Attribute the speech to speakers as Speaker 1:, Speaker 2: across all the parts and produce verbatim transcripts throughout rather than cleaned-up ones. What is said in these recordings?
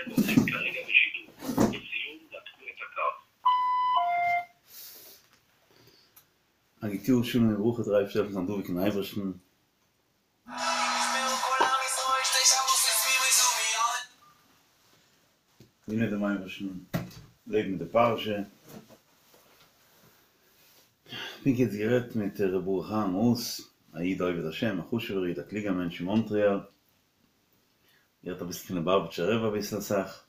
Speaker 1: א גוט יאר שלום וברכה דער אייבערשטער זאל העלפן זיין דבוק אין אייבערשטן. דינען דעם אייבערשטן, לעבן מיט די פרשה. פונקט יעצט גערעדט מיט ר' ברוך אהרן האס, א איד א עובד השם, א חשובער איד, א קלוגער מענטש אין מאנטריאל. גערעדט אביסל פון ליובאוויטשער רבי אביסל אסאך.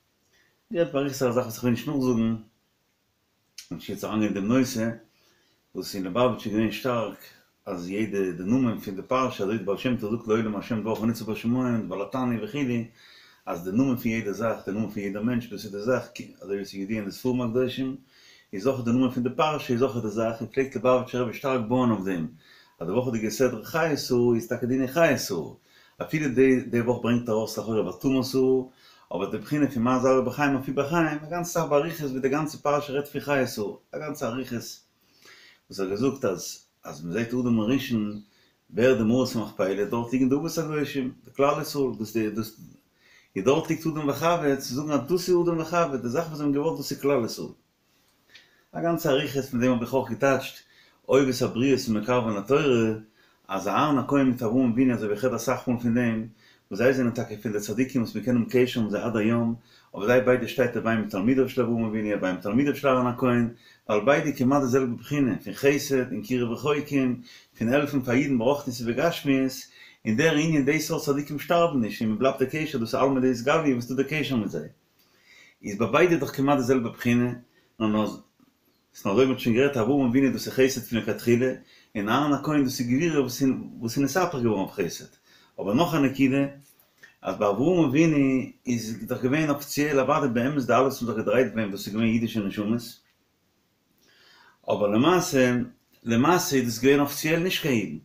Speaker 1: גערעדט באריכות א זאך וואס איך וויל נישט נאכזאגן. נישט יעצט אריינגיין אין דעם נושא, וואס אין ליובאוויטש איז געווען שטארק אז יעדע די נאמען פון די פרשה אזוי די בעל שם טוב זאגט לעולם השם דברך נצב בשמים די בעל התניא וכו' אז די נאמען פון יעדע זאך די נאמען פון יעדע מענטש דאס איז די זאך אזוי ווי עס איז ידוע אין די ספרים הקדושים איז אויך די נאמען פון די פרשה איז אויך די זאך און פלעגט ליובאוויטשער רבי שטארק בויען אויף דעם אז די וואכעדיגע סדרה חיי שרה איז טאקע דיני חיי שרה אפילו די די וואך ברענגט ארויס לכאורה ותמת שרה, אבער די בחינה פון מה זרעו בחיים אף הוא בחיים, א גאנצע סאך באריכות ווי די גאנצע פרשה רעדט פון חיי שרה, א גאנצע אריכות וואס ער האט געזאגט אז אז מען זעט אדם הראשון ווערט די מערת המכפילה דארט ליגן די אבות הקדושים, די כלל ישראל, דאס די דאס איז דארט ליגט אדם וחוה, צו זאגן אז דאס איז אדם וחוה, די זאך וואס זיי האבן געוואלט דאס איז כלל ישראל. א גאנצע אריכות פון דעם האב איך אויך געטייטשט אוהב את הבריות ומקרבן לתורה, אז אהרן הכהן מיט אברהם אבינו אזוי ווי איך רעד אסאך מאל פון דעם, וואס זיי זענען טאקע פון די צדיקים וואס מיר קענען האבן קשר מיט זיי עד היום, אבער זיי ביידע שטייט הוי מתלמידיו של אברהם אבינו הוי מתלמידיו של אהרן הכהן, ווייל ביידע כמעט די זעלבע בחינה, פון חסד און קירוב רחוקים, פון העלפן פאר אידן ברוחניות ובגשמיות, און דער ענין די סארט צדיקים שטארבן נישט און מען בלייבט די קשר דאס איז עלמא דאתגליא וואס טוט די קשר מיט זיי. איז ביי ביידע דאך כמעט די זעלבע בחינה, נאר נאר ס'נאר אזוי מ'האט שוין גערעדט אברהם אבינו דאס איז חסד פון לכתחילה, און אהרן הכהן דאס איז גבורה וואס איז וואס איז נתהפך געווארן אויף חסד. אבער נאך א נקודה, אז ביי אברהם אבינו איז דאך געווען אפיציעל אוודאי באמת די אלע וואס האבן זיך געדרייט ביי אים דאס איז געווען אידישע נשמות, אבער למעשה למעשה איז דאס געווען אפיציעל נישט קיין אידן.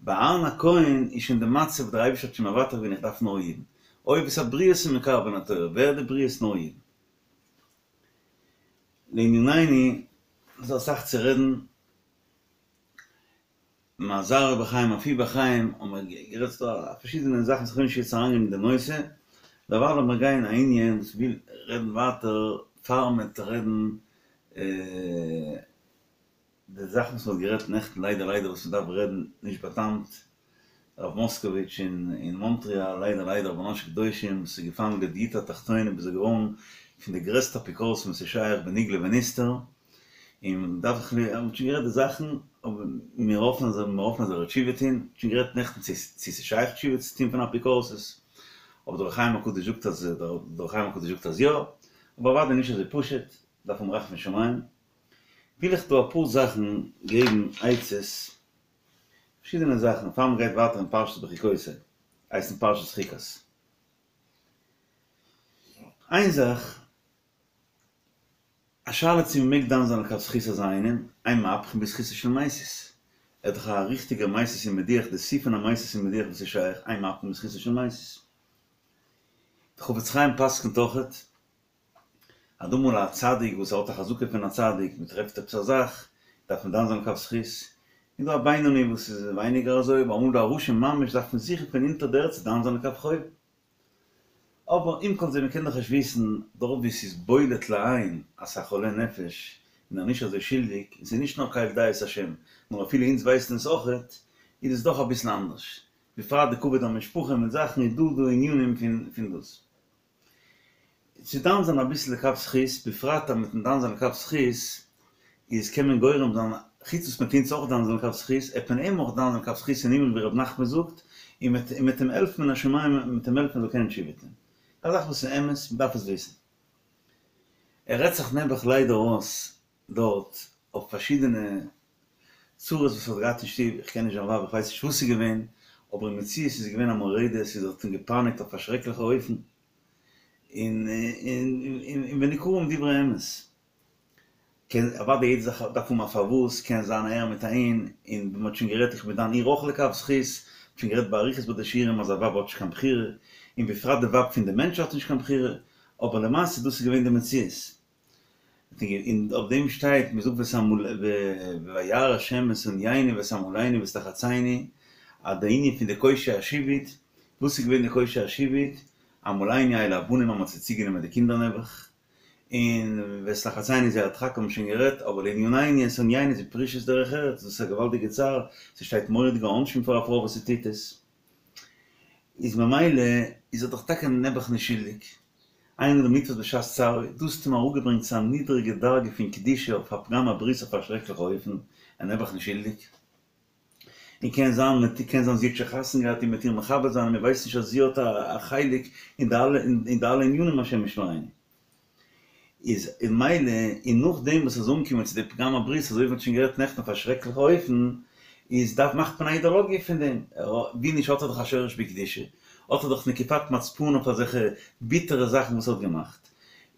Speaker 1: ביי אהרן הכהן איז שוין די מצב דער אייבערשטער האט שוין מוותר געווען איך דארף נאר אידן. אוהב את הבריות ומקרבן לתורה, ווער די בריות נאר אידן. לענינינו, ס'איז דא אסאך צו רעדן. מה זרעו בחיים אף הוא בחיים, האבן מיר גערעדט ס'דא פארשידענע זאכן וואס איך וויל נישט יעצט אריינגיין אין די נושא, דערווייל לאמיר גיין א ענין וואס כ'וויל רעדן ווייטער פאר מ'עט רעדן די זאכן וואס מ'האט גערעדט נעכטן ליידער ליידער וואס מ'דארף רעדן נישט באטאמט, הרב מאסקאוויטש אין מאנטריאל ליידער ליידער רבן אנשי קדושים וואס איז געפאלן לדיוטא התחתונה ביז ער געווארן פון די גרעסטע אפיקורסים וואס איז שייך בנגלה ונסתר, און מען דארף זיך מען האט שוין גערעדט די זאכן, אבער מיר האפן אז מיר האפן אז ער וועט תשובה טון, מען האט שוין גערעדט נעכטן צו צו ס'איז שייך תשובה צו טון פון אפיקורסות, אבער דער אור החיים הקדוש זאגט אז דער אור החיים הקדוש זאגט אז יא, אבער אוודאי נישט אזוי פשוט, דארף האבן רחמי שמים. וויל איך דא אפאר זאכן געבן עצות, פארשידענע זאכן, פאר מען גייט ווייטער אין פרשת בחוקותי, הייסט אין פרשת חוקת. איין זאך א שאלה צו מ'מעג דן זיין לכף זכות אזא איינעם, אין מהפכין בזכותו של מסית. ער איז דאך א ריכטיגער מסית און מדיח, די שיא פון א מסית און מדיח וואס איז שייך, אין מהפכין בזכותו של מסית. די חפץ חיים פסק'נט אויכעט אז דא אמאל א צדיק וואס האט א חזקה פון א צדיק, מ'טרעפט עפעס א זאך, דארף מען דן זיין לכף זכות. און דא א בינוני וואס איז ווייניגער אזוי, אבער אמאל דא א רשע ממש דארף מען זוכן פון אונטער דער ערד צו דן זיין לכף חוב. אבער עם כל זה מ'קען דאך נישט וויסן דארט ווי ס'איז בולט לעין אז ס'איז א חולה נפש און ער נישט אזוי שולדיג, און ס'איז נישט נאר קל דעות השם, נאר אפילו אונז ווייסן עס אויכעט, איז עס דאך אביסל אנדערש. בפרט די כבוד המשפחה מיט זאכן איז דא דא ענינים פון פון דאס. צו דן זיין אביסל לכף זכות, בפרט אז מיטן דן זיין לכף זכות איז קען מען גורם זיין, חוץ וואס מ'טוט אונז אויך דן זיין לכף זכות, עט מען אים אויך דן זיין לכף זכות אין הימל ווי ר' נחמן זאגט, און מ'עט און מ'עט אים העלפן מן השמים מ'עט אים העלפן ער זאל קענען תשובה טון. א זאך וואס איז אמת, מ'דארף עס וויסן. ער רעדט זיך נעבעך ליידער אויס דארט אויף פארשידענע צרות וואס ער האט געהאט אין שטוב, איך קען נישט זיין ווייב איך ווייס נישט וואס ס'איז געווען, אבער אין מציאות איז געווען א מורדת און זי האט אים געפייניגט אויף א שרעקליכע אופן, און און וניכרים דברי אמת. קען, אוודאי יעדע זאך דארף האבן א פארוואס, קען זיין אהער מיט אהין, און ווי מ'האט שוין גערעדט איך בין דן איר אויך לכף זכות, מ'האט שוין גערעדט באריכות ביי די שיעורים אז א ווייב האט נישט קיין בחירה, און בפרט די ווייב פון די מענטש האט נישט קיין בחירה, אבער למעשה דאס איז געווען די מציאות. און אויף דעם שטייט, מען זאגט וירא השם את ענינו ואת עמלינו ואת לחצינו, אז די ענין פון די קושי השעבוד, וואס איז געווען די קושי השעבוד? אמאל עיני אלו הבנים אז מ'האט זיי צוגענומען די קינדער נעבעך, און ואת לחצינו זייער הדחק האבן שוין גערעדט, אבער לענינינו את ענינו איז פרישות דרך ארץ, דאס איז א געוואלדיגע צער, ס'שטייט מורא'דיגע עונשים פאר א פרוי וואס זי טוט עס, איז ממילא איז ער דאך טאקע נעבעך נישט שולדיג, אין אדם נתפס בשעת צערו, דאס האט אים אראפגעברענגט צו א נידריגע דרגה פון קדושה אויף א פגם הברית אויף א שרעקליכע אופן, ער נעבעך נישט שולדיג. און קען זיין מיט קען זיין זי האט שוין חתונה געהאט און מ'עט איר מכבד זיין און מען ווייסט נישט אז זי האט א חלק אין די אלע אין די אלע ענינים השם ישמרינו. איז ממילא און נאכדעם וואס ער איז אנגעקומען צו די פגם הברית אזוי ווי מען האט שוין גערעדט נעכטן אויף א שרעקליכע אופן איז דארף מאכט מען א אידאלאגיע פון דעם ווי נישט האט ער דאך א שורש בקדושה האט ער דאך נקיפת מצפון אויף אזעלכע ביטערע זאכן וואס ער האט געמאכט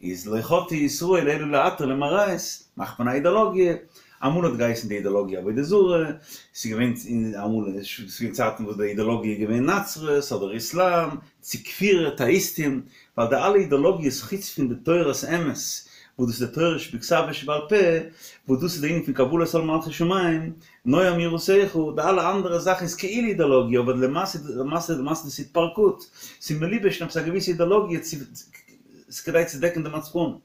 Speaker 1: איז לא חטאו ישראל אלא להתיר להם עריות, מאכט מען א אידאלאגיע, אמאל האט געהייסן די אידאלאגיע עבודה זרה, ס'איז געווען אמאל ס'איז געווען צייטן וואס די אידאלאגיע איז געווען נצרות אדער איסלאם, צו כפירה, טאיסטים, ווייל די אלע אידאלאגיעס חוץ פון די תורת אמת, וואס דאס איז די תורה שבכתב ושבעל פה, וואס דאס איז די ענין פון קבלת עול מלכות שמים, נועם יראתך, די אלע אנדערע זאכן איז כאילו אידאלאגיע אבער למעשה למעשה למעשה דאס איז התפרקות, ס'איז מלובש אין עפעס א געוויסע אידאלאגיע צו ס'איז כדי צו דעקן די מצפון.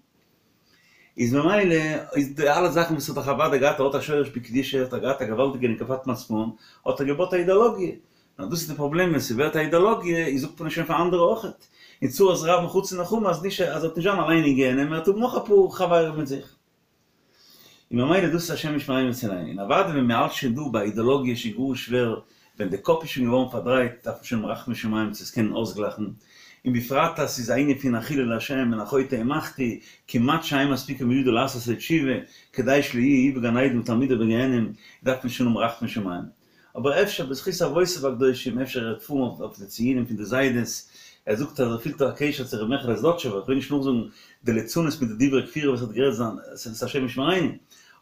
Speaker 1: איז ממילא איז די אלע זאכן וואס האט דאך אוודאי געהאט ער האט א שורש בקדושה האט ער געהאט א געוואלדיגע נקיפת מצפון האט ער געבויט א אידאלאגיע. נאר דאס איז די פראבלעם ווען ס'ווערט א אידאלאגיע איז זאגט מען עס שוין פאר אנדערע אויכעט. און צרת רבים חצי נחמה אז נישט אז ער וועט נישט זיין אליין אין גיהנום ער וועט האבן נאך אפאר חברים מיט זיך. און ממילא דאס איז השם ישמרינו ויצילנו. און אוודאי ווען מ'האלט שוין דא ביי אידאלאגיע איז שוין גאר שווער, ווען די קאפ איז שוין געווארן פארדרייט דארף מען שוין האבן רחמי שמים צו עס קענען אויסגלייכן, און בפרט אז ס'איז א ענין פון א חילול השם און א חוטא ומחטיא, כמעט שאין מספיקין בידו לעשות לו תשובה, כדי שלא יהיה הוא בגן עדן ותלמידיו בגיהנום, דארף מען שוין האבן רחמי שמים. אבער אפשר בזכות אבותיו הקדושים, אפשר ער וועט פארן אויף די ציונים פון די זיידעס, ער זאגט אז ער פילט א קשר צו ר' מעכעלע זלאטשובער, איך וויל נישט נאכזאגן די ליצנות מיט די דברי כפירה וואס ער האט גערעדט זיין, ס'איז השם ישמרינו,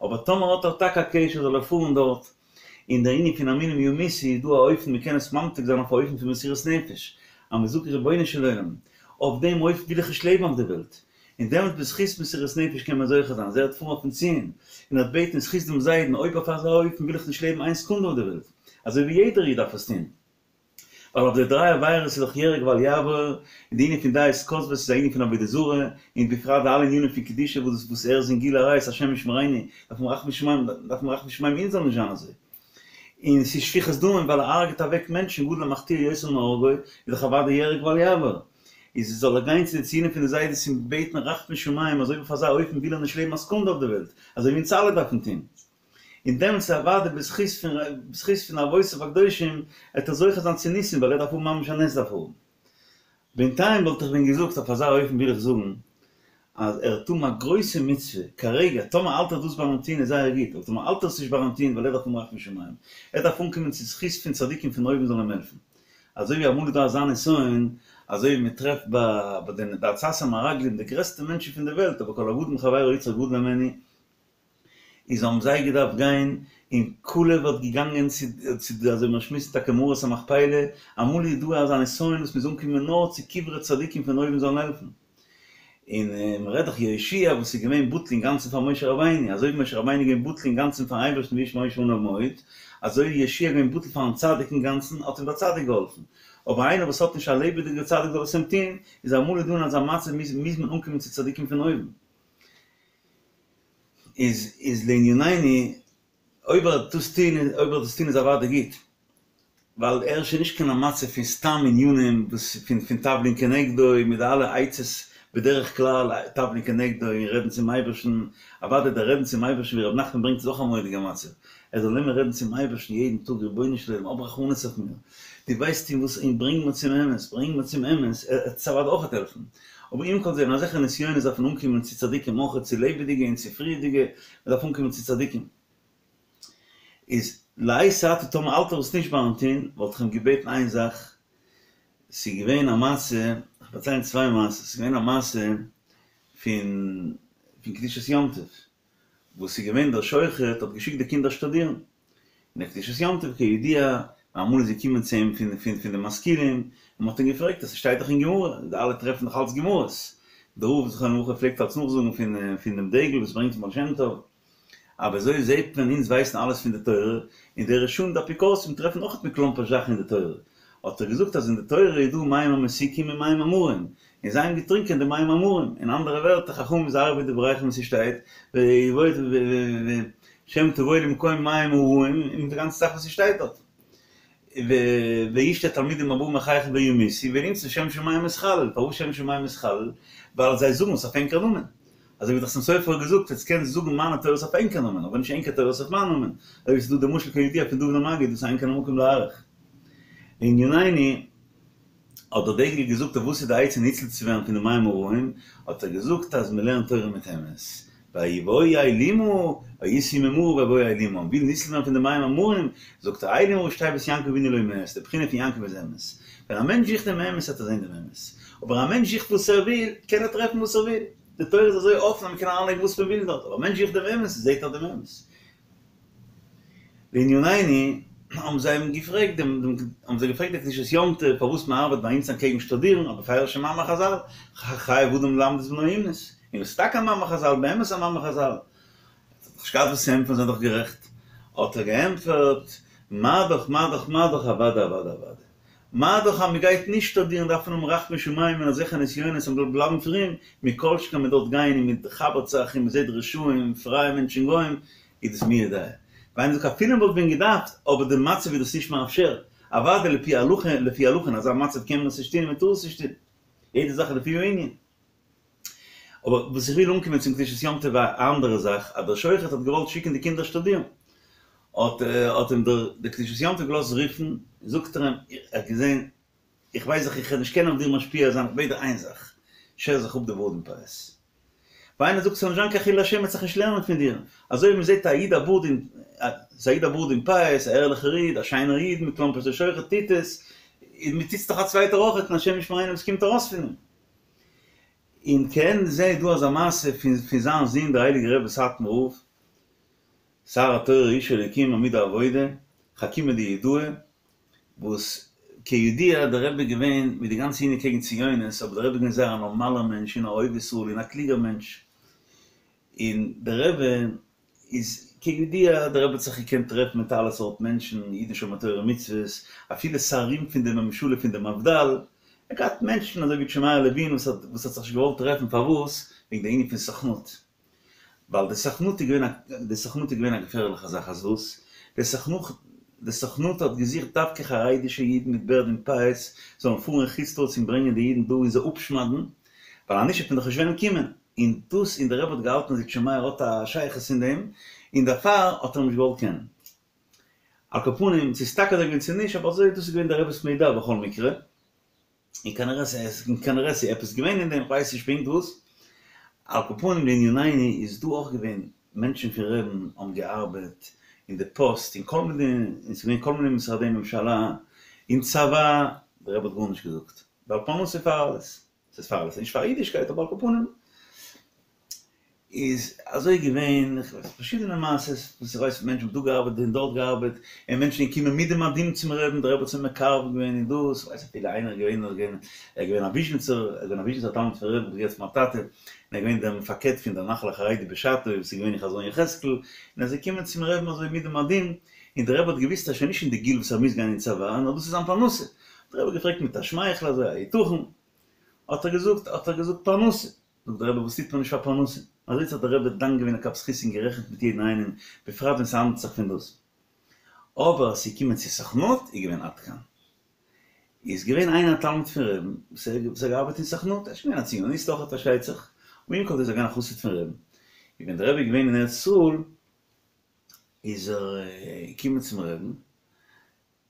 Speaker 1: אבער טאמער האט ער טאקע א קשר זאל ער פארן דארט, און דער ענין פון המינים ימותו איז דא א אופן מ'קען עס ממתיק זיין אויף א אופן פון מסירות נפש, אז מ'זאגט רבונו של עולם, אויף דעם אופן וויל איך נישט לעבן אויף די וועלט, און דעמאלט בזכות מסירות נפש קען מען זוכה זיין, אז ער וועט פארן אויפן ציון, און ער וועט בעטן אין זכות דעם זיידן, אויב אויף אזא אופן וויל איך נישט לעבן איין סעקונדע אויף די וועלט, אזוי ווי יעדער איד דארף עס טון. ווייל אויף די דריי עבירות איז דאך יהרג ואל יעבור, און די ענין פון דעות כוזבות איז א ענין פון עבודה זרה, און בפרט די אלע ענינים פון קדושה וואס וואס ער איז אין גילוי עריות השם ישמרינו, דארף מען רחמי שמים, דארף מען רחמי שמים אונז זאל נישט זיין אזוי. און ס'איז שפיכות דמים ווייל ער הרג'ט אוועק מענטשן גדול המחטיא יותר מהורגו, איז דאך אוודאי יהרג ואל יעבור. איז זאל ער גיין צו די ציונים פון די זיידעס און בעטן רחמי שמים אז אויב אויף אזא אופן וויל ער נישט לעבן א סעקונדע אויף די וועלט, אזוי ווי אונז אלע דארפן טון. און דעמאלטס איז אוודאי בזכות פון בזכות פון אבותיו הקדושים וועט ער זוכה זיין צו ניסים ווייל ער דארף האבן ממש א נס דארף ער האבן. בינתיים וואלט איך ווען געזאגט אויף אזא אופן וויל איך זאגן אז ער וועט האבן א גרויסע מצוה כרגע, טאמער האלט ער דאס ביים טון איז זייער גוט, אבער טאמער האלט ער עס נישט ביים טון ווייל ער דארף האבן רחמי שמים, ער דארף אנקומען צו זכות פון צדיקים פון אויבן זאלן אים העלפן. אזוי ווי אמאל איז דא אזא נסיון, אזוי ווי מען טרעפט ביי די די עצת המרגלים די גרעסטע מענטשן פון די וועלט, אבער כל הגדול מחבירו יצרו גדול הימנו, איז האבן זיי געדארפט גיין, און כלב האט געגאנגען צו צו די אזוי מיר שמועסן טאקע מערת המכפילה, אמאל איז דא אזא נסיון וואס מ'איז אנגעקומען נאר צו קברי צדיקים פון אויבן זאלן העלפן. און מ'רעדט דאך יהושע וואס איז געווען בטל אינגאנצן פאר משה רבינו, אזוי ווי משה רבינו איז געווען בטל אינגאנצן פארן אייבערשטן והאיש משה עניו מאוד, אזוי איז יהושע געווען בטל פארן צדיק אינגאנצן, האט אים דער צדיק געהאלפן. אבער איינער וואס האט נישט א לעבעדיגער צדיק זאל עס אים טון, איז אמאל איז דא אין אזא מצב מוז מוז מען אנקומען צו צדיקים פון אויבן. איז איז לענינינו, אויב ער וועט דאס טון, אויב ער וועט דאס טון איז אוודאי גוט, ווייל ער איז שוין נישט קיין א מצב פון סתם ענינים וואס פון פון תבלין כנגדו מיט די אלע עצות בדרך כלל תבלין כנגדו און רעדן צום אייבערשטן, אוודאי דער רעדן צום אייבערשטן ווי ר' נחמן ברענגט איז אויך א מורא'דיגע מצב, ער זאל נעמען רעדן צום אייבערשטן יעדן טאג רבונו של עולם האב רחמנות אויף מיר, דו ווייסט אין וואס און ברענג מיר צום אמת, ברענג מיר צום אמת, עס וועט אוודאי אויכעט העלפן. אבער עם כל זה, אין אזעלכע נסיונות דארף מען אנקומען צו צדיקים אויכעט, צו לעבעדיגע און צו פריערדיגע, מען דארף אנקומען צו צדיקים. איז לעת עתה טאמער האלט ער עס נישט ביים טון, וואלט איך אים געבעטן איין זאך, ס'איז געווען א מעשה, איך פארצייל צוויי מעשות, ס'איז געווען א מעשה פון פון קדושת יום טוב, וואס איז געווען דער שוחט האט געשיקט די קינדער שטודירן, און דער קדושת יום טוב כידוע, אמאל איז געקומען צו אים פון פון פון די משכילים, און מען האט אים געפרעגט אז ס'שטייט דאך אין גמרא, די אלע טרעפן דאך אלץ גמרות, דער רב זכרונו לברכה פלעגט אלץ נאכזאגן פון פון דעם דגל וואס ברענגט פון בעל שם טוב, אבער אזוי זעט מען אונז ווייסן אלעס פון די תורה, און די רשעים די אפיקורסים טרעפן אויך מכלומפערשט זאכן אין די תורה, האט ער געזאגט אז אין די תורה איז דא מים המתוקים און מים המרים, און זיי האבן געטרינקען די מים המרים, אין אנדערע ווערטער חכמים היזהרו בדבריכם וואס ס'שטייט, שמא תבואו למקום מים הרעים, און די גאנצע זאך וואס ס'שטייט דארט. וישתו התלמידים הבאים אחריכם וימותו, ונמצא שם שמים מתחלל, פארוואס שם שמים מתחלל? ווייל זיי זאגן עס אויף ענקער נאמען. אזוי ווי דער חתם סופר האט געזאגט, עטס קענטס זאגן מיינע תורות אויף ענקער נאמען, אבער נישט ענקער תורות אויף מיין נאמען. אזוי ווי ס'איז דא די משל כידוע פון דובנער מגיד וואס אין כאן המקום להאריך. לענינינו, האט דער דגל געזאגט אויף וואס איז די עצה ניצול צו ווערן פון די מים הרעים, האט ער געזאגט אז מ'לערנט תורה מיט אמת, ויבואו אילימה, ויסעו ממרה ויבואו אילימה, מ'וויל ניצול ווערן פון די מים המרים, זאגט ער אילימה ראשי תיבות יעקב אבינו לא מת, די בחינה פון יעקב איז אמת, ווען א מענטש זוכט דעם אמת וועט ער זען דעם אמת, אבער א מענטש זוכט וואס ער וויל, קען ער טרעפן וואס ער וויל, די תורה איז אזוי אפן אז מ'קען אריינלייגן וואס מ'וויל דארט, אבער א מענטש זוכט דעם אמת, זעט ער דעם אמת. לענינינו, האבן זיי אים געפרעגט דעם, האבן זיי געפרעגט דער קדושת יום טוב פארוואס מען ארבעט ביי אונז אנטקעגן שטודירן, א בפירוש'ע מאמר חזל, חייב אדם ללמד את בנו אומנות, און עס איז טאקע א מאמר חזל, באמת א מאמר חזל. האט ער דאך נישט געהאט וואס צו ענטפערן, זיי זענען דאך גערעכט. האט ער געענטפערט, מה דאך מה דאך מה דאך אוודאי אוודאי אוודאי. מה דאך אז מ'גייט נישט שטודירן דארף מען האבן רחמי שמים און אזעלכע נסיונות אז מ'זאל בלייבן פרום, מכל שכן מ'דארף גיין און מ'חבר'ט זיך און מ'זעט רשעים, פרייע מענטשן גוים, איז דאס מי יודע. ווייל מ'זאגט אפילו מ'וואלט ווען געדארפט, אבער די מצב איז דאס נישט מאפשר, אוודאי לפי הלכה, לפי הלכה אין אזא מצב קען מען עס נישט טון און מ'טאר עס נישט טון. יעדע זאך איז לפי הענין. אבער וואס איך וויל אנקומען צום קדושת יום טוב א אנדערע זאך, אז דער שוחט האט געוואלט שיקן די קינדער שטודירן, האט האט אים דער דער קדושת יום טוב געלאזט רופן, זאגט ער אים, ער האט געזען, איך ווייס דאך איך וועל נישט קענען אויף דיר משפיע זיין, איך בעט דיר איין זאך, שער זיך אפ די בארד און פאות. ווייל איינער זאגט ס'זאל נישט זיין קיין חילול השם מ'וועט זיך נישט לערנען פון דיר, אזוי ווי מ'זעט א איד א בארד און א איד א בארד און פאות, א ערליכער איד, א שיינער איד, מיט קלאמפערשט דער שוחט טוט עס, און מ'טוט עס דאך א צווייטער אויכעט און השם ישמרינו וואס קומט ארויס פון אים. און כעין זה איז דא אזא מעשה פון פון זיין זון דער הייליגער רבי סאטמאר רב, שר התורה איש אלוקים עמוד העבודה, חכימא דיהודאי, וואס כידוע דער רבי איז געווען מיט די גאנצע ענין קעגן ציונות, אבער דער רבי איז געווען זייער א נארמאלער מענטש און א אוהב ישראל און א קלוגער מענטש, און דער רבי איז כידוע דער רבי האט זיך געקענט טרעפן מיט אלע סארט מענטשן, אידן שומרי תורה ומצוות, אפילו שרים פון די ממשלה פון די מפד"ל, ער האט געהאט מענטשן אזוי ווי איטשע מאיר לעווין וואס האט וואס האט זיך נישט געוואלט טרעפן פארוואס? וועגן די ענין פון סוכנות, ווייל די סוכנות איז געווען א די סוכנות איז געווען א געפערליכע זאך אז וואס? די סוכנות די סוכנות האט געזוכט דווקא חרדישע אידן מיט בערד און פאות זאלן פארן אין חוץ לארץ און ברענגען די אידן דא און זיי אפשמד'ן, ווייל אנישט וועט מען דאך נישט וועלן קומען. און דאס און דער רבי האט געהאלטן אז איטשע מאיר האט א שייכות אין דעם, און דערפאר האט ער אים נישט געוואלט קענען. על כל פנים, צו ס'איז טאקע אזוי געווען צו נישט, אבער אזוי דאס איז געווען דער רבי'ס מידע בכל מקרה, און כנראה ס'איז כנראה ס'איז עפעס געווען אין דעם, כ'ווייס נישט פונקט וואס. על כל פנים לענינינו איז דא אויך געווען מענטשן פון רבי'ן האבן געארבעט אין די פאסט אין כל מיני, און ס'איז געווען כל מיני משרדי ממשלה, אין צבא, דער רבי האט גארנישט געזאגט, ווייל פרנסה פאר אלעס. ס'איז פאר אלעס, נישט פאר אידישקייט, אבער על כל פנים איז אזוי געווען, איך ווייס פארשידענע מעשות וואס איך ווייס מענטשן האבן דא געארבעט און דארט געארבעט, און מענטשן געקומען מיט די מדים צום רעבן, דער רבי האט זיי מקרב געווען און דאס, כ'ווייס אפילו איינער איז געווען, ער איז געווען א וויזשניצער, ער איז געווען א וויזשניצער תלמיד פון רעבן, כ'האב געהערט פון מיין טאטע, און ער איז געווען דער מפקד פון דער נחל החרדי בשעתו, וואס איז געווען אין חזון יחזקאל, און ער איז געקומען צום רעבן אזוי מיט די מדים, און דער רבי האט געוואוסט אז ער איז שוין נישט אין די גיל וואס ער מוז גיין אין צבא, נאר דאס איז זיין פרנסה, האט דער רבי געפרעגט מיט א שמייכל אזוי, היתכן? האט ער געזאגט, האט ער געזאגט פרנסה. זאגט דער רבי וואס טוט מען נישט פאר פרנסה? אזוי האט זיך דער רבי דן געווען לכף זכות און גערעכנט מיט יעדן איינעם, בפרט ווען ס'האנדלט זיך פון דאס. אבער אז ס'איז געקומען צו סוכנות איז געווען עד כאן. איז געווען איינער א תלמיד פון רעבן וואס ער האט געארבעט אין סוכנות, ער איז געווען א ציוניסט אויכעט פארשטייט זיך, אבער עם כל זה איז ער געווען א חסיד פון רעבן. און ווען דער רבי איז געווען אין ארץ ישראל איז ער געקומען צום רעבן,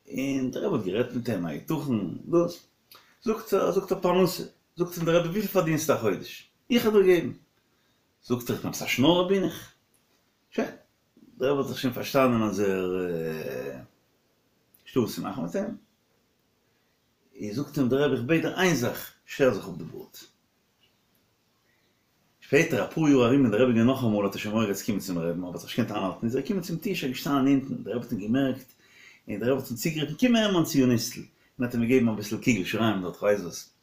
Speaker 1: און דער רבי האט גערעדט מיט אים היתכן דאס, זאגט ער, זאגט ער פרנסה, זאגט אים דער רבי וויפיל פארדינסטו א חודש, איך וועל דיר געבן, זאגט ער איך בין עפעס א שנארער בין איך, שוין, דער רבי האט זיך שוין פארשטאנען אז ער נישטא וואס צו מאכן מיט אים, איז זאגט אים דער רבי איך בעט דיר איין זאך, שער זיך אפ די בארד. שפעטער אפאר יאר ארום ווען דער רבי איז געווען נאכאמאל האט ער שוין מורא געהאט צו קומען צום רעבן אבער האט זיך נישט געקענט איינהאלטן איז ער געקומען צום טיש ער איז געשטאנען אונטן דער רבי האט אים געמערקט און דער רבי האט אים צוגערופן קום אהער מיין ציוניסטל און האט אים געגעבן אביסל קוגל שיריים דארט כ'ווייס וואס.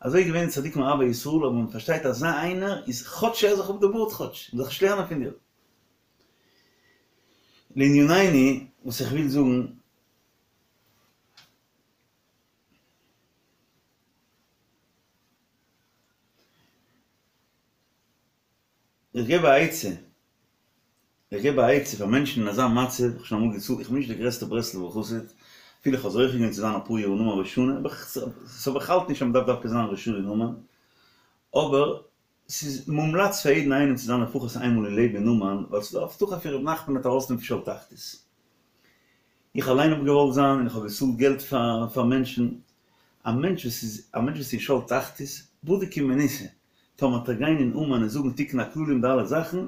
Speaker 1: אזוי איז געווען צדיקים אוהבי ישראל אבער מען פארשטייט אזא איינער איז כאטש שער זיך אפ די בארד כאטש מ'זאל זיך נישט לערנען פון דיר. לענינינו וואס איך וויל זאגן. איך געב א עצה, איך געב א עצה פאר מענטשן אין אזא מצב, איך האב שוין אמאל געצאלט, איך בין נישט דער גרעסטער ברסלב'ער חסיד, אפילו איך האב זוכה געווען צו זיין אפאר יאר אין אומאן ראש השנה, אבער ס'אבער איך האלט נישט אז מ'דארף דווקא זיין ראש השנה אין אומאן, אבער ס'איז מומלץ פאר יעדן איינעם צו זיין לפחות איינמאל אין לעבן אין אומאן, ווייל ס'איז דא א הבטחה פון ר' נחמן עט ארויסנעמען פון שאול תחתית. איך אליין האב געוואלט זיין און איך האב געצאלט געלט פאר פאר מענטשן, א מענטש וואס איז א מענטש וואס איז אין שאול תחתית, בדוק ומנוסה, טאמער וועט ער גיין אין אומאן און זאגן תיקון הכללי מיט די אלע זאכן,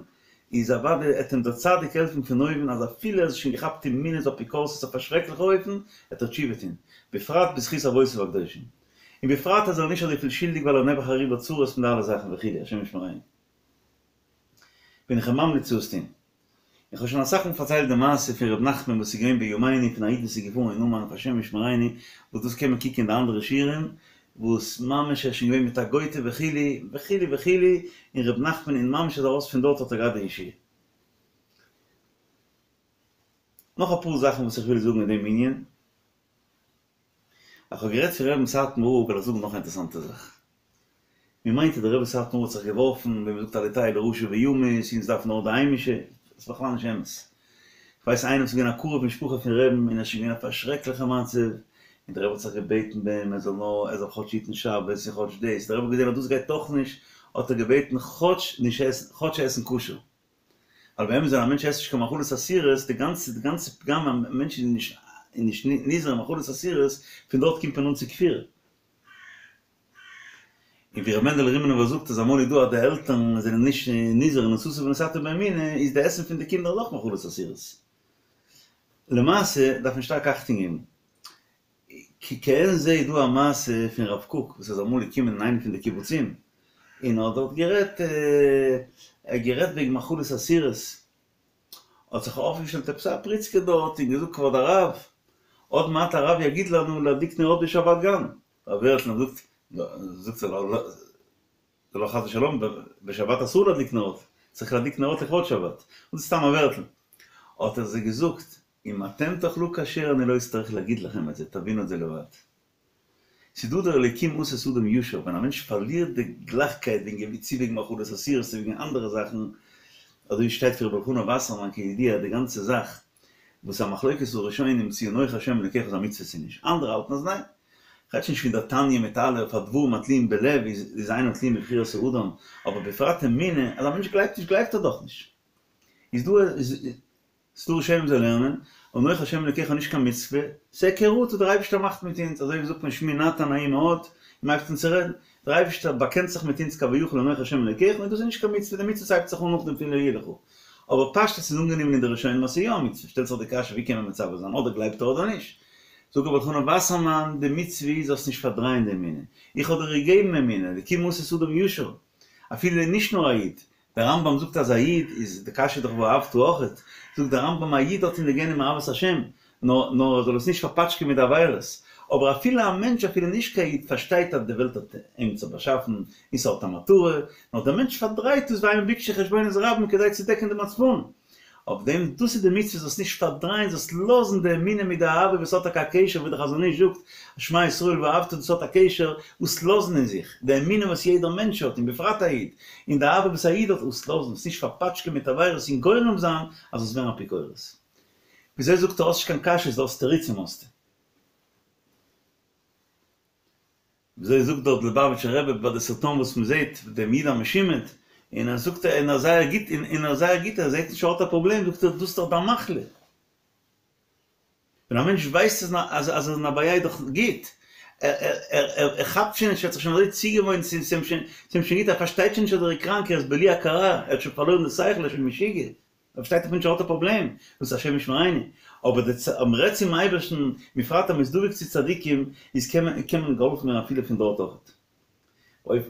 Speaker 1: איז אוודאי עט אים דער צדיק העלפן פון אויבן אז אפילו ער איז שוין געכאפט אין מינות אפיקורסות אויף א שרעקליכע אופן, עט ער תשובה טון, בפרט בזכות אבותיו הקדושים. און בפרט אז ער איז נישט אזויפיל שולדיג ווייל ער איז נעבעך אריבער צרות מיט די אלע זאכן וכו', השם ישמרינו. בין איך אים ממליץ צו עס טון. איך האב שוין אסאך מאל פארציילט די מעשה פון ר' נחמן וואס איז געווען בימינו פון א איד וואס איז געפארן אין אומאן אויף השם ישמרינו וואס דאס קען מען קוקן אין די אנדערע שיעורים וואס ממש ער איז שוין געווען מיט א גויטע וכו' וכו' וכו' און ר' נחמן און ממש איז ארויס פון דארט האט ער געהאט די ישועה. נאך אפאר זאכן וואס איך וויל זאגן אין דעם ענין. אז כ'האב גערעדט פון רבי'ן סאטמאר רב וועל איך זאגן נאך א אינטערעסאנטע זאך. מען מיינט אז דער רבי סאטמאר האט זיך געווארפן ווען מען זאגט אל יטהו לרשע וימות אונז דארפן נאר די היימישע, דאס איז בכלל נישט אמת. כ'ווייס איינער וואס איז געווען א קרוב משפחה פון רבי'ן און ער איז שוין געווען אויף א שרעקליכע מצב, און דער רבי האט זיך געבעטן ביי אים ער זאל נאר ער זאל כאטש היטן שבת און כאטש דאס, דער רבי האט געזען אז דאס גייט אויך נישט, האט ער געבעטן כאטש נישט עסן כאטש עסן כשר. ווייל באמת ווען א מענטש עסט נישט קיין מאכלות אסורות, די גאנצע די גאנצע פגם א מענטש איז נישט איז נישט נזהר אין מאכלות אסורות, פון דארט קומט מען אן צו כפירה. און ווי ר' מענדעלע רימינובער זאגט אז אמאל איז דא אז די עלטערן זענען נישט נזהר אין ונשאת ונתת באמונה, איז די עסן פון די קינדער אויך מאכלות אסורות. למעשה דארף מען שטארק אכטונג געבן. כעין זה איז דא א מעשה פון רב קוק וואס איז אמאל געקומען אין איינע פון די קיבוצים און האט דארט גערעדט ער האט גערעדט וועגן מאכלות אסורות האט זיך אויפגעשטעלט עפעס א פריצקע דארט און געזאגט כבוד הרב עוד מעט הרב יגיד לנו להדליק נרות בשבת גם רב ווערטל האט געזאגט זאגט ער זה לא חס ושלום, בשבת אסור להדליק נרות, צריך להדליק נרות לכבוד שבת, און דאס איז סתם א ווערטל. האט ער זיי געזאגט, אם אתם תאכלו כשר אני לא אצטרך להגיד לכם את זה, תבינו את זה לבד. ס'איז דא דער אלוקים עשה את האדם ישר, ווען א מענטש פארלירט די גלייכקייט וועגן צו וועגן מאכלות אסורות צו וועגן אנדערע זאכן, אזוי ווי שטייט פון רבי אלחנן וואסערמאן כידוע די גאנצע זאך וואס א מחלוקת הראשונים צו אנוכי השם אלוקיך איז א מצוה צו נישט, אנדערע האלטן אז ניין. כ'רעד שוין נישט פון דער תניא מיט אלע אויף הדברים התלויים בלב איז אינם תלויים בבחירת האדם, אבער בפרט אמונה, אז א מענטש גלייבט נישט גלייבט ער דאך נישט. איז דא איז דא ראשונים זיי לערנען, אנוכי השם אלוקיך נישט קיין מצוה, ס'היכרות וואס דער אייבערשטער מאכט מיט אונז, אזוי ווי זאגט מען שמי נתן נעים מאוד, און מ'הייבט אן צו רעדן, דער אייבערשטער באקענט זיך מיט אונז כביכול אנוכי השם אלוקיך, און דאס איז נישט קיין מצוה, די מצוות הייבט זיך אן נאכדעם פון לא יהיה לך. אבער פשטות איז אנגענומען אין די ראשונים אז ס'איז יא א מצוה, שטעלט זיך די קשיא ווי קען מען מצווה זיין, אדער גלייבט ער אדער נישט. זאגט רבי אלחנן וואסערמאן, די מצוה איז זאלסט נישט פארדרייען די אמונה, איך האב דיר געגעבן אמונה, אלקים עשה את האדם ישר, אפילו נישט נאר א איד, דער רמב"ם זאגט אז א איד איז, די קשיא איז דאך ואהבת אויכעט, זאגט דער רמב"ם א איד האט אין די גענען אהבת השם, נאר נאר ער זאל עס נישט פארפאטשקען מיט די עבירות, אבער אפילו א מענטש אפילו נישט קיין איד פארשטייט אז די וועלט האט עמיצער באשאפן און ס'האט א מטרה, נאר דער מענטש פארדרייט עס והמה ביקשו חשבונות רבים כדי צו דעקן די מצפון. אויף דעם, דאס איז די מצוה זאלסט נישט פארדרייען זאלסט לאזן די אמונה מיט די אהבה וואס האט טאקע א קשר ווי דער חזון איש זאגט שמע ישראל ואהבת דאס האט א קשר וואס לאזן אין זיך די אמונה וואס יעדער מענטש האט און בפרט א איד און די אהבה וואס א איד האט וואס לאזן עס נישט פארפאטשקען מיט עבירות און גורם זיין אז זאלסט ווערן אפיקורס. וויאזוי זאגט ער האסט נישט קיין קשיות דו האסט תירוצים האסטו. וויאזוי זאגט דארט ליובאוויטשער רבי ביי די סרטון וואס מען זעט דעם איד א משומד, און ער זאגט און ער זייער גוט און ער זייער גוט ער זעט נישט ער האט א פראבלעם זאגט ער דאס איז דאך דיין מחלה. ווען א מענטש ווייסט אז אז ער איז אין א בעיה איז דאך גוט, ער ער ער ער כאפט שוין נישט ער האט זיך שוין אזוי צוגעוואוינט ס'איז אים שוין ס'איז אים שוין גוט ער פארשטייט שוין נישט אז ער איז קראנק ער איז בלי הכרה ער האט שוין פארלוירן די שכל ער איז שוין משוגע. ער פארשטייט דאך נישט ער האט א פראבלעם, דאס איז השם ישמרינו, אבער די צ אז מ'רעדט צום אייבערשטן, בפרט אז מ'איז דבוק צו צדיקים, איז קען מען קען מען געהאלפן ווערן אפילו פון דארט אויכעט. אויף.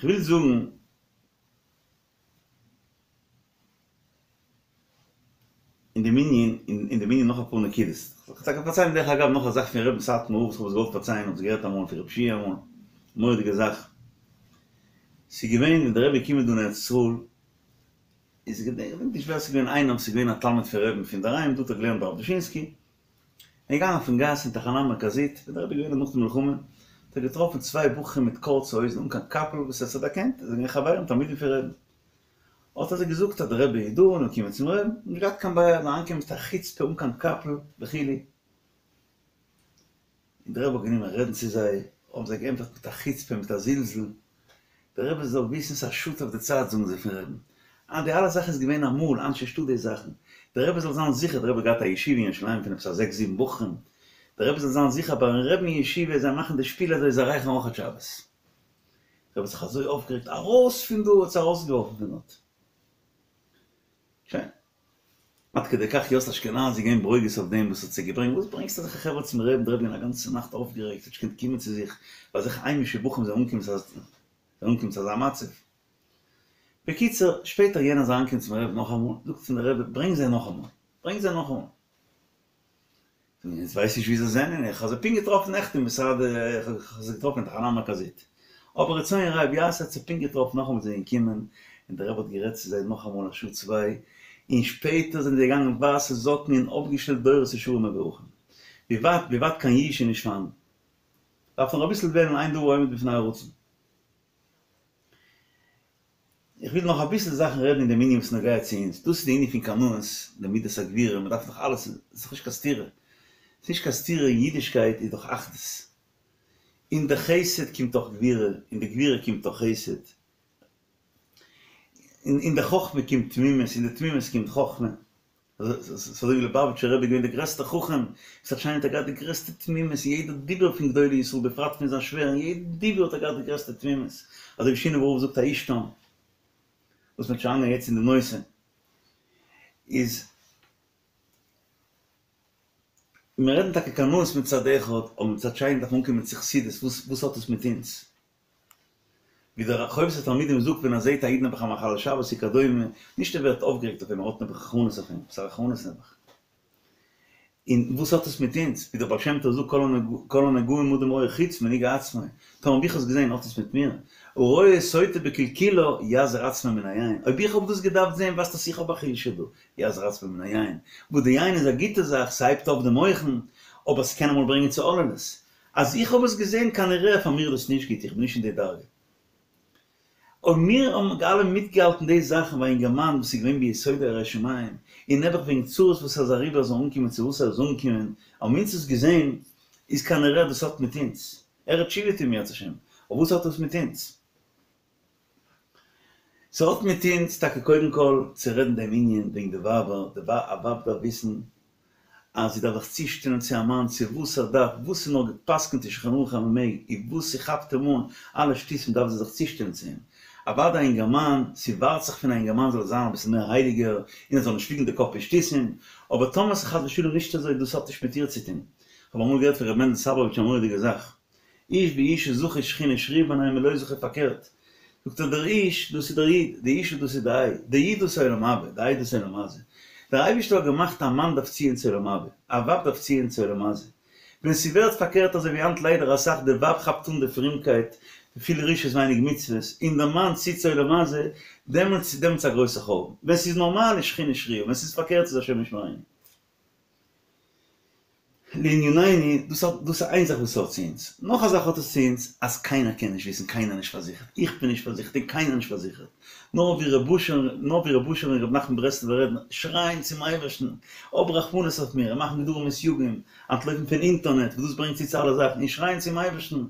Speaker 1: כ'וויל זאגן. אין דעם ענין, אין דעם ענין נאך אפאר נקודות. כ'וועל טאקע פארציילן דרך אגב נאך א זאך פון רבי'ן סאטמאר רב וואס כ'האב עס געוואלט פארציילן, האב עס געהערט אמאל פון רב שיע אמאל, מורא'דיגע זאך. ס'איז געווען ווען דער רבי איז געקומען דא אין ארץ ישראל, איז געדענק נישט ווער ס'איז געווען איינער וואס איז געווען א תלמיד פון רבי'ן פון דערהיים, דא האט ער געלערנט ביי רב דושינסקי, ער איז געגאנגען אויפן גאס אין תחנה מרכזית, ווען דער רבי איז געווען נאך די מלחמה, האט ער געטראפן צוויי בחורים מיט קורצע הויזן אן קיין קאפל וואס ער האט זיי דערקענט, זיי זענען געווען חברים תלמידים פון רבי'ן. האט ער זיי געזאגט אז דער רבי איז דא און קומען צום רבי'ן, נישט געהאט קיין בעיה, זיי אריינגעקומען מיט א חוצפה אן קיין קאפל וכו'. און דער רבי האט גענומען רעדן צו זיי, האבן זיי געענטפערט מיט א חוצפה מיט א זלזול, דער רבי זאל וויסן ס'איז א שאד אויף די צייט זאגן זיי פון רבי'ן, אה די אלע זאכן איז געווען אמאל, היינט נישטא די זאכן, דער רבי זאל זיין זיכער, דער רבי האט געהאט א ישיבה אין ירושלים פון עפעס א זעקס זיבן בחורים, דער רבי זאל זיין זיכער ביים רבי'ן אין ישיבה זיי מאכן די שפיל אזוי זיי רייכערן אויכעט שבת. דער רבי האט זיך אזוי אויפגערעגט, ארויס פון דא! האט זיי ארויסגעווארפן פון דארט. שוין. עד כדי כך יאסל אשכנזי געווען ברוגז אויף דעם וואס האט זיי געברענגט, וואס ברענגסטו אזעלכע חברה צום רבי'ן, דער רבי געווען א גאנצע נאכט אויפגערעגט, האט נישט געקענט קומען צו זיך, ווייל אזעלכע היימישע בחורים זענען אנגעקומען צו אזא מצב. בקיצור, שפעטער יענער איז אריינגעקומען צום רבי'ן נאכאמאל, זאגט אים דער רבי, ברענג זיי נאכאמאל, ברענג זיי נאכאמאל. און ווייס נישט ווי זיי זענען, איך האב זיי פונקט געטראפן נעכטן אין משרד, איך האב זיי געטראפן אין תחנה המרכזית. אבער רצון רב יעשה האט זיי פונקט געטראפן נאכאמאל זענען געקומען, און דער רבי האט גערעדט צו זיי נאכאמאל א שעה צוויי, און שפעטער זענען זיי געגאנגען ווייסע זאקן און אויפגעשטעלט דורות ישרים מבורכים. ווי ווייט ווי ווייט קיין יאוש איז נישט פארהאן. דארף נאר אביסל וועלן אין דבר העומד בפני הרצון. איך וויל נאך אביסל זאכן רעדן אין דעם ענין וואס נוגע צו אונז, דאס איז די ענין פון קנאות, די מידת הגבורה, מען דארף דאך אלעס, עס איז דאך נישט קיין סתירה, עס איז נישט קיין סתירה אין אידישקייט איז דאך אחדות, אין די חסד קומט אויך גבורה, אין די גבורה קומט אויך חסד, אין די חכמה קומט תמימות, אין די תמימות קומט חכמה. אזוי ווי ליובאוויטשער רבי איז געווען דער גרעסטער חכם, איז אנטשיינענד האט ער געהאט די גרעסטע תמימות אין יעדע דיבור פון גדולי ישראל בפרט פון זיין שווער אין יעדע דיבור האט ער געהאט די גרעסטע תמימות, אזוי ווי שינאווער רב זאגט א איש תם, וואס מ'וועט שוין אריינגיין יעצט אין די נושא, איז מיר רעדן טאקע קנאות מצד אחד, אבער מצד שני דארף מען אנקומען צו חסידות, וואס האט עס מיט אונז? ווי דער חובת התלמידים זאגט ווען ער זעהט א איד נעבעך א מחלל שבת וכדומה, נישט ער ווערט אויפגערעגט אויף אים, ער האט נעבעך רחמנות אויף אים, ס'איז א רחמנות נעבעך. און וואס האט עס מיט אונז? ווי דער בעל שם טוב זאגט כל הנגעים אדם רואה חוץ מנגעי עצמו, טאמער האב איך עס געזעהן האט עס מיט מיר? הרואה סוטה בקלקולה יזיר עצמו מן היין, אויב איך האב דאס געדארפט זעהן ווייזט אז איך האב א חולשה דא, יזיר עצמו מן היין, וואס די יין איז א גוטע זאך, ס'הייבט אויף די מוחין, אבער ס'קען אמאל ברענגען צו הוללות. אז איך האב עס געזען כנראה פאר מיר איז דאס נישט גוט, איך בין נישט אין די דרגה. אויב מיר האבן אלע מיטגעהאלטן די זאכן ביי א אינגערמאן וואס איז געווען ביסודו ירא שמים, און נעבעך וועגן צרות וואס ער איז אריבער זאל אנקומען צו וואס ער איז אנגעקומען, האבן אונז עס געזען, איז כנראה דאס האט מיט אונז. ער האט תשובה טון אם ירצה השם, אבער וואס האט דאס מיט אונז? ס'האט מיט אונז טאקע קודם כל צו רעדן דעם ענין וועגן די ווייבער, די א ווייב דארף וויסן אז זי דארף זיך צושטעלן צו א מאן צו וואס ער דארף, וואס איז נאר גע'פסק'נט אין שולחן ערוך אז מ'מעג, און וואס ס'כאפט אים אן, אלע שטותים דארף זי זיך צושטעלן צו אים. אוודאי א אינגערמאן, ס'ווארט זיך פון א אינגערמאן זאל ער זיין אביסל מער הייליגער, און ער זאל נישט ליגן די קאפ אין שטותים, אבער טאמער ס'איז חס ושלום נישט אזוי, דאס האט נישט מיט איר צו טון. כ'האב אמאל געהערט פון ר' מענדל סאבאוויטש א מורא'דיגע זאך. איש ואשה זכה שכינה שרויה ביניהם ולא זכה פארקערט, זאגט ער דער איש דאס איז דער איד, די אשה דאס איז די איי, דער איד דאס איז עולם הבא, די איי דאס איז עולם הזה. דער אייבערשטער האט געמאכט א מאן דארף ציען צו עולם הבא, א ווייב דארף ציען צו עולם הזה. ווען ס'ווערט פארקערט אזוי ווי היינט ליידער אסאך די ווייב כאפט אן די פרומקייט, פיל רשעות ווייניג מצוות, און דער מאן ציט צו עולם הזה, דעמאלטס איז דעמאלטס א גרויסע חורבן. ווען ס'איז נארמאל איז שכינה שרויה, ווען ס'איז פארקערט איז השם ישמרינו. לענינינו, דאס האט, דאס איז איין זאך וואס ס'האט צו אונז. נאך א זאך האט עס צו אונז, אז קיינער קען נישט וויסן, קיינער נישט פארזיכערט, איך בין נישט פארזיכערט און קיינער נישט פארזיכערט. נאר ווי ר' אשר, נאר ווי ר' אשר און ר' נחמן ברסלב'ער רעדן, שרייען צום אייבערשטן, האב רחמנות אויף מיר, און מאכן גדרים און סייגים, אנטלויפן פון אינטערנעט, וואס דאס ברענגט צו צו אלע זאכן, און שרייען צום אייבערשטן,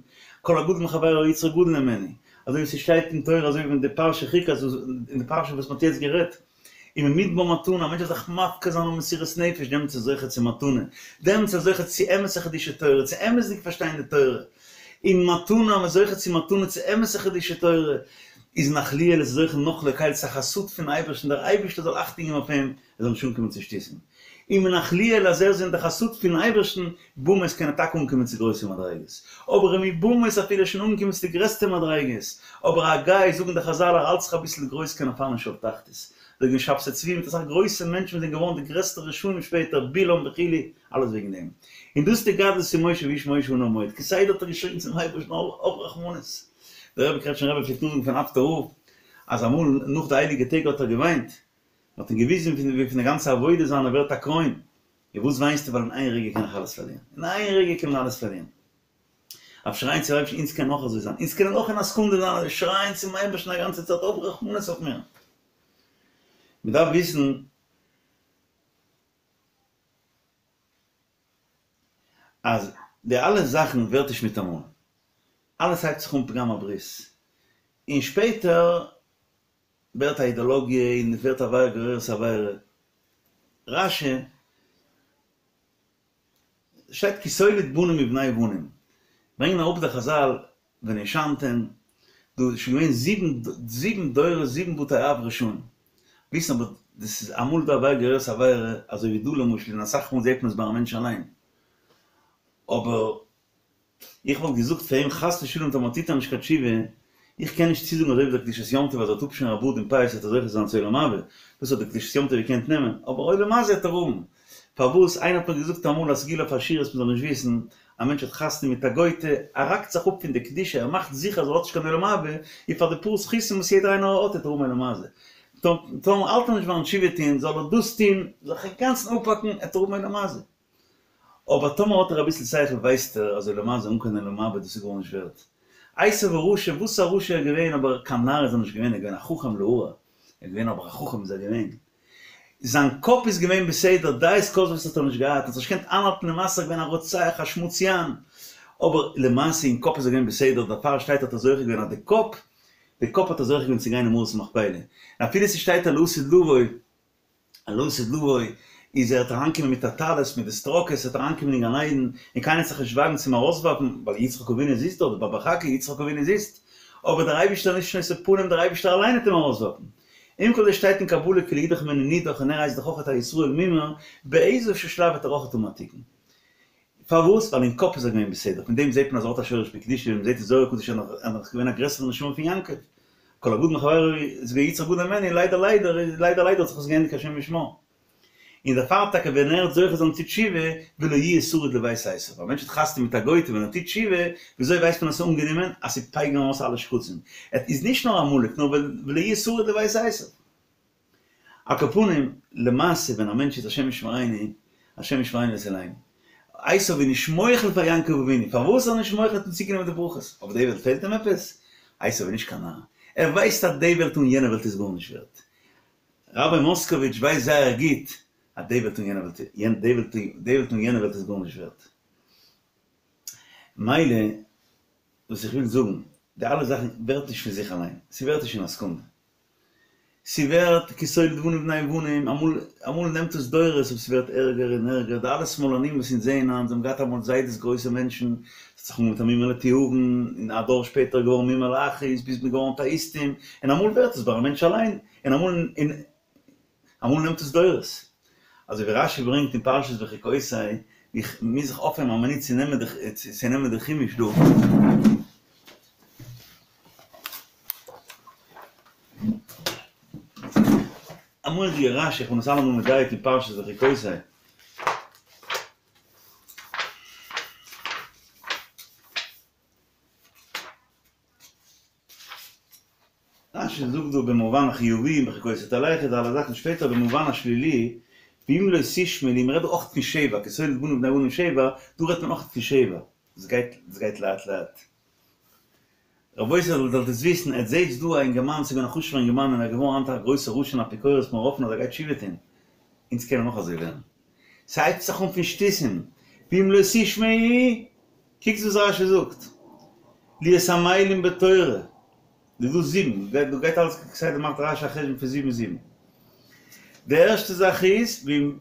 Speaker 1: כל הגדול מחבירו יצרו גדול ממנו, אזוי ווי ס'שטייט אין תורה, אזוי ווי אין די פרשה חוקת, אין די פרשה וואס מ'האט יעצט גערעדט. וממדבר מתנה, א מענטש זאל זיך מפקיר זיין און מסירות נפש, דעמאלטס איז ער זוכה צו מתנה, דעמאלטס איז ער זוכה צו אמת'ע חידושי תורה, צו אמת'דיג פארשטיין די תורה, און מתנה, אז מ'איז זוכה צו מתנה, צו אמת'ע חידושי תורה, איז נחליאל איז זוכה נח לקל צו א חסד פון אייבערשטן, דער אייבערשטער זאל אכטונג געבן אויף אים, ער זאל נישט אנקומען צו שטותים. און מנחליאל אז ער איז אין די חסד פון אייבערשטן, במות קען ער טאקע אנקומען צו גרויסע מדריגות, אבער ומבמות אפילו שוין אנגעקומען צו די גרעסטע מדריגות, אבער א גוי, זאגן די חזל ער האלט זיך אביסל גרויס קען ער פאלן אין שאול תחתית, וועגן שבתי צבי מיט אסאך גרויסע מענטשן וואס זענען געווארן די גרעסטע רשעים שפעטער, בלעם וכו', אלעס וועגן דעם. און דאס איז די גדלות פון משה והאיש משה עניו מאוד, כסדר האט ער געשריגן צום אייבערשטן האב רחמנות. דער רבי קרעטשניפער רבי פלעגט נאכזאגן פון אפטער רב אז אמאל נאך די הייליגע טעג האט ער געוויינט, מען האט אים געוויזן ווי פון די גאנצע עבודה זיינע ווערט א קרוין, און וואס וויינסטו ווייל אין איין רגע קען איך אלעס פארלירן, אין איין רגע קען מען אלעס פארלירן. אויף שרייען צום אייבערשטן אונז קען אויך אזוי זיין, אונז קענען אויך אין א סעקונדע זיין אזוי שרייען צום אייבערשטן א גאנצע צייט האב רחמנות אויף מיר. מען דארף וויסן אז די אלע זאכן ווערט נישט מיטאמאל, אלעס הייבט זיך אן פגם הברית, און שפעטער ווערט א אידאלאגיע און עס ווערט עבירה גוררת עבירה. רש"י שטייט כי תוליד בנים מבני בנים, ברענגען אראפ די חזל ונושנתם, דא איז שוין געווען זיבן זיבן דורות זיבן בתי אב רשעים, וויסן אבער דאס איז אמאל דא עבירה גוררת עבירה אזוי ווי דא למשל און אסאך מאל זעט מען עס ביי א מענטש אליין, אבער איך וואלט געזאגט פאר אים חס ושלום טאמער טוט ער נישט קיין תשובה, איך קען נישט צוזאגן אזוי ווי דער קדושת יום טוב אז ער וועט אפשערן א בארד און פאות וועט ער זוכה זיין צו עולם הבא, דאס האט דער קדושת יום טוב געקענט נעמען, אבער עולם הזה וועט ער האבן. פארוואס? איינער האט מיר געזאגט אמאל א סגולה אויף עשירות מ'זאל נישט וויסן, א מענטש האט חתונה מיט א גוי'טע, ער האקט זיך אפ פון די קדושה, ער מאכט זיכער אז ער האט נישט קיין עולם הבא, און פאר די פאר זכותים וואס יעדער איינער האט וועט ער האבן עולם הזה. טאמער האלט ער נישט ביים תשובה טוהן, זאל ער דאס טוהן, זיך אינגאנצן אפהאקן, וועט ער האבן עולם הזה. אבער טאמער האט ער אביסל שכל ווייסט ער אז עולם הזה אן קיין עולם הבא דאס איז גארנישט ווערט. עשו הרשע, וואס א רשע ער איז געווען אבער קיין נאר איז ער נישט געווען ער איז געווען א חכם להרע, ער איז געווען אבער א חכם איז ער געווען. זיין קאפ איז געווען בסדר, דעות כוזבות האט ער נישט געהאט, ער האט זיך נישט געקענט איינהאלטן למעשה ער איז געווען א רוצח א שמוציאן, אבער למעשה אין קאפ איז ער געווען בסדר, דערפאר שטייט האט ער זוכה געווען אז די קאפ, די קאפ האט ער זוכה געווען צו גיין אין מערת המכפלה, און אפילו ס'שטייט אז לעתיד לבוא, לעתיד לבוא איז ער וועט אריינקומען מיט א טלית מיט די סטראקעס ער וועט אריינקומען אין גן עדן און קיינער וועט זיך נישט וואגן צו אים ארויסווארפן ווייל יצחק אבינו זיצט דארט בבא חכי יצחק אבינו זיצט אבער דער אייבישטער איז נישט נושא פנים דער אייבישטער אליין וועט אים ארויסווארפן עם כל זה שטייט אין קבלה כי לא ידח ממנו נידח און ער הייסט דאך אויכעט א ישראל מומר באיזה שלב וועט ער אויכעט האבן א תיקון פארוואס? ווייל אין קאפ איז ער געווען בסדר, פון דעם זעט מען אז ער האט א שורש בקדושה, ווי מען זעט אין זוהר הקדוש איז ער נאך געווען א גרעסערע נשמה פון יעקב, כל הגדול מחבירו איז געווען יצחק גדול ממנו, ליידער ליידער ליידער ליידער האט זיך עס געענדיגט השם ישמור. און דערפאר טאקע ווען ער וועט זוכה זיין צו תשובה, ולא יהיה שריד לבית עשו, א מענטש האט חתונה מיט א גוי'טע ווען ער טוט תשובה, וויאזוי ווייסט מען אז עס איז אנגענומען? אז ס'פייגערן אויס אלע שקצים. עס איז נישט נאר עמלק, נאר ולא יהיה שריד לבית עשו. על כל פנים, למעשה ווען א מענטש איז השם ישמרינו, השם ישמרינו ויצילנו, עשו איז נישט מוחל פאר יעקב אבינו, פארוואס איז ער נישט מוחל אים צוגענומען די ברכות? אויף די וועלט פעלט אים עפעס? עשו איז נישט קיין נאר, ער ווייסט אז די וועלט אן יענע וועלט איז גארנישט ווערט. ראביי מאסקאוויטש ווייסט זייער גוט אז די וועלט אן יענע וועלט, די וועלט אן יענע וועלט איז גארנישט ווערט. מילא, וואס איך וויל זאגן, די אלע זאכן ווערט נישט פון זיך אליין, ס'ווערט נישט אין א סעקונדע. ס'ווערט כי תוליד בנים בני בנים, אמאל אמאל נעמט עס דורות אבער ס'ווערט ערגער און ערגער, די אלע שמאלנים וואס אונז זעען היינט, זיי האבן געהאט אמאל זיידעס גרויסע מענטשן, ס'האט זיך אנגעהויבן מיט א מומר לתיאבון, און א דור שפעטער איז געווארן מומר לאחוז, ביז מ'איז געווארן אטעאיסטים, און אמאל ווערט עס ביי א מענטש אליין, און אמאל און אמאל נעמט עס דורות. אזוי ווי רשי ברענגט אין פרשת בחוקותי, איך מוז זיך אויפהערן א מינוט צו נעמען די צו נעמען די חומש דא. א מורא'דיגע רשי, איך בין עס אלעמאל מדייק אין פרשת בחוקותי. רשי זאגט דא במובן החיובי אם בחוקותי תלכו די אלע זאכן שפעטער במובן השלילי ואם לא תשמעו לי מ'רעדט דא אויך פון שבע כי תוליד בנים בני בנים שבע דא רעדט מען אויך פון שבע עס גייט עס גייט לאט לאט רבותי זאלט עטס וויסן עטס זעטס דא א אינגערמאן ס'איז געווען א חשוב'ער אינגערמאן און ער איז געווארן היינט א גרויסער רשע און אפיקורס מיר האפן אז ער גייט תשובה טון אונז קענען אויך אזוי ווערן ס'הייבט זיך אן פון שטותים ואם לא תשמעו קוקטס וואס רשי זאגט, להיות עמלים בתורה, דא דא זיבן, דא גייט אלעס כסדר מאכט רשי א חשבון פון זיבן זיבן, די ערשטע זאך איז ואם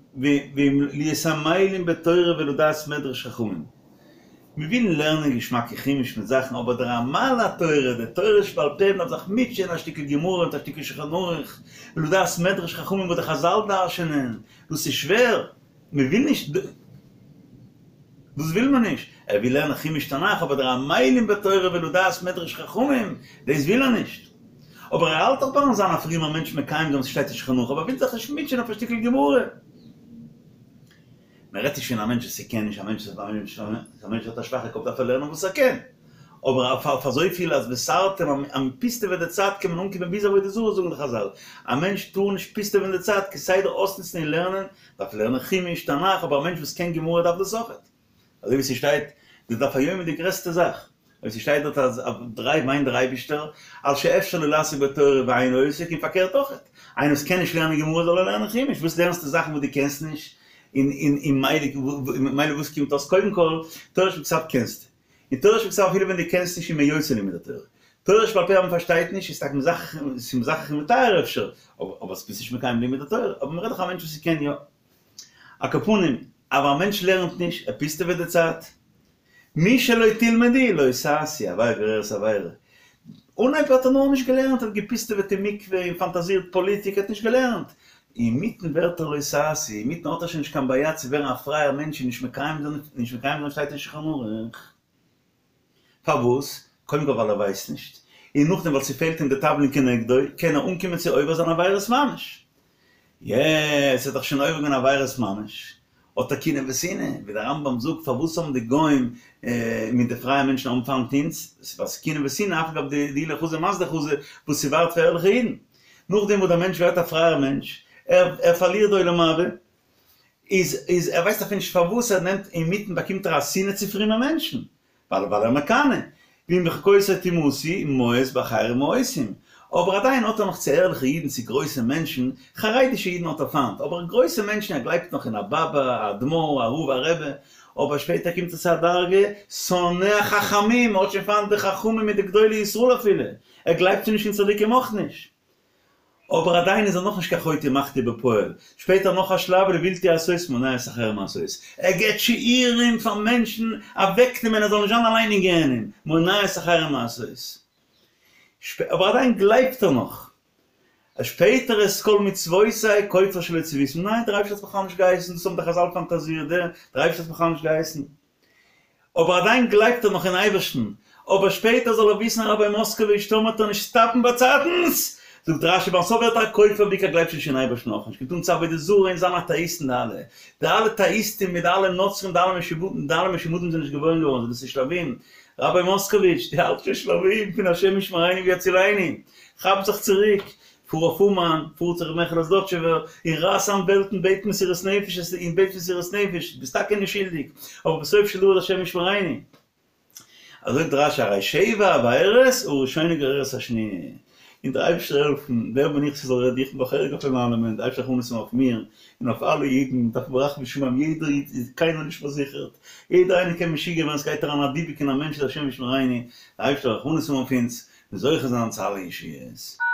Speaker 1: להיות עמלים בתורה ולדעת מדרש חכמים, מיר ווילן לערנען געשמאקע חומש מיט זאכן אבער דער עמל התורה, די תורה שבעל פה, מ'דארף זיך מוטשען א שטיקל גמרא מיט א שטיקל שולחן ערוך, ולדעת מדרש חכמים וואס די חזל דרש'נען, דאס איז שווער. מען וויל נישט, דאס וויל מען נישט, ער וויל לערנען חומש תנך, אבער דער עמלים בתורה ולדעת מדרש חכמים, דאס וויל ער נישט. אבער ער האלט דאך ביים זיין א פרומער מענטש מקיים זיין וואס שטייט אין שולחן ערוך, אבער ער וויל זיך נישט מוטשען אויף א שטיקל גמרא. מען רעדט נישט פון א מענטש וואס ער קען נישט, א מענטש וואס א מענטש האט א שוואכע קאפ דארף ער לערנען וואס ער קען, אבער אויף אזויפיל אז וסרתם אז מען פיסטעוועט די צייט קען מען אנקומען ביז עבודה זרה זאגן די חזל, א מענטש טאר נישט פיסטעווען די צייט כסדר אויסנוצן אין לערנען, דארף לערנען חומש, תנך, אבער א מענטש וואס קען גמרא דארף דאס אויכעט. אזוי ווי ס'שטייט, די דף היומי די גרעסטע זאך, אויב ס'שטייט דארט אז אויף דריי וויינט דער אייבישטער, על שאפשר לו לעסוק בתורה ואינו עוסק, און פארקערט אויכעט, איינער וואס קען נישט לערנען גמרא זאל ער לערנען חומש, וואס לערנסטו זאכן וואס דו קענסט נישט, און און מילא וואס קומט אויס, קודם כל, תורה שבכתב קענסטו, און תורה שבכתב אפילו ווען דו קענסט נישט איז מען יוצא לימוד התורה, תורה שבעל פה אז מען פארשטייט נישט איז טאקע מזכך און מטהר אפשר, אבער ביסט נישט מקיים לימוד התורה, אבער מען רעדט דאך א מענטש וואס קען יא. על כל פנים, אבער א מענטש לערנט נישט, ער פיסטעוועט די צייט. מי שלא תלמדו לא תעשו, עבירה גוררת עבירה. אנהייב האט ער נאר נישט געלערנט, ער האט געפיסטעוועט אין מקווה און פאנטאזירט פאליטיק, ער האט נישט געלערנט. אינמיטן ווערט ער לא תעשו, אינמיטן האט ער שוין נישט קיין בעיה צו ווערן א פרייער מענטש און נישט מקיים זיין, נישט מקיים זיין שטייט אין שולחן ערוך. פארוואס? קודם כל ווייל ער ווייסט נישט, און נאכדעם ווייל ס'פעלט אים די תבלין כנגדו, קען ער אנקומען צו עובר זיין עבירות ממש. יעצט האט ער שוין עובר געווען עבירות ממש, האט ער קנאה ושנאה, ווי דער רמב"ם זאגט פארוואס האבן די גוים מיט די פרייע מענטשן האבן פיינט אונז, ווייל ס'איז קנאה ושנאה אף על גב דאיהו לא חזי מה דחזי וואס ס'ווארט פאר ערליכע אידן. נאכדעם וואס דער מענטש ווערט א פרייער מענטש, ער ער פארלירט די עולם הבא, איז איז ער ווייסט אפילו נישט פארוואס ער נעמט אינמיטן באקומט ער א שנאה צו פרומע מענטשן, ווייל ווייל ער מקנא, ואם בחוקותי תמאסו מאוס באחרים מאוסים, אבער עדיין האט ער נאך צו ערליכע אידן צו גרויסע מענטשן, חרדישע אידן האט ער פיינט, אבער גרויסע מענטשן ער גלייבט נאך אין א באבא, א אדמו"ר, א רב, א רבי, אבער שפעטער קומט ער צו א דרגה, שונא החכמים, ער האט שוין פיינט די חכמים מיט די גדולי ישראל אפילו, ער גלייבט שוין נישט אין צדיקים אויך נישט. אבער עדיין איז ער נאכנישט קיין חוטא ומחטיא בפועל, שפעטער נאך א שלב לבלתי עשות מונע את אחרים מעשות, ער געבט שיעורים פאר מענטשן אוועקנעמען ער זאל נישט זיין אליין אין גיהנום, מונע את אחרים מעשות, אבער עדיין גלייבט ער נאך, שפעטער את כל מצוותי כופר שלא צויתים, ניין דער אייבערשטער האט בכלל נישט געהייסן, דאס האבן די חזל פאנטאזירט, דער אייבערשטער האט בכלל נישט געהייסן. אבער עדיין גלייבט ער נאך אין אייבערשטן, אבער שפעטער זאל ער וויסן ראביי מאסקאוויטש טאמער וועט ער נישט סטאפן באצייטנס, זאגט רשי ביים סוף ווערט ער א כופר ווי ער גלייבט שוין נישט אין אייבערשטן אויך נישט, קומט אן צו עבודה זרה און זיין אטעאיסטן די אלע די אלע טעאיסטים מיט די אלע נוצרים די אלע משומדים די אלע משומדים זענען נישט געבוירן געווארן דאס איז שלבים, ראביי מאסקאוויטש דו האלטסט שוין שלבים פון השם ישמרינו ויצילנו, כאפ זיך צוריק, פאר אויף אומאן, פאר צו ר' מעכעלע זלאטשובער, און רייס איין וועלטן בעט מסירות נפש, און בעט מסירות נפש, ביסט טאקע נישט שולדיג, אבער בסוף של דבר השם ישמרינו. אזוי זאגט רשי הרי שבע עבירות הראשונה גוררת השניה, און דער אייבערשטער העלפן, ווער בין איך ס'זאל רעדן, איך בין בחרג אויף אלעמען, דער אייבערשטער רחמנות האבן אויף מיר, און אויף אלע אידן, דארף ברחמי שמים, יעדער איד איז קיינער נישט פארזיכערט, יעדער איינער קען משוגע ווערן, ס'גייט אריין א דיבוק אין א מענטש השם ישמרינו, דער אייבערשטער רחמנות האבן אויף אונז, און זוכה זיין צו אלע ישועות.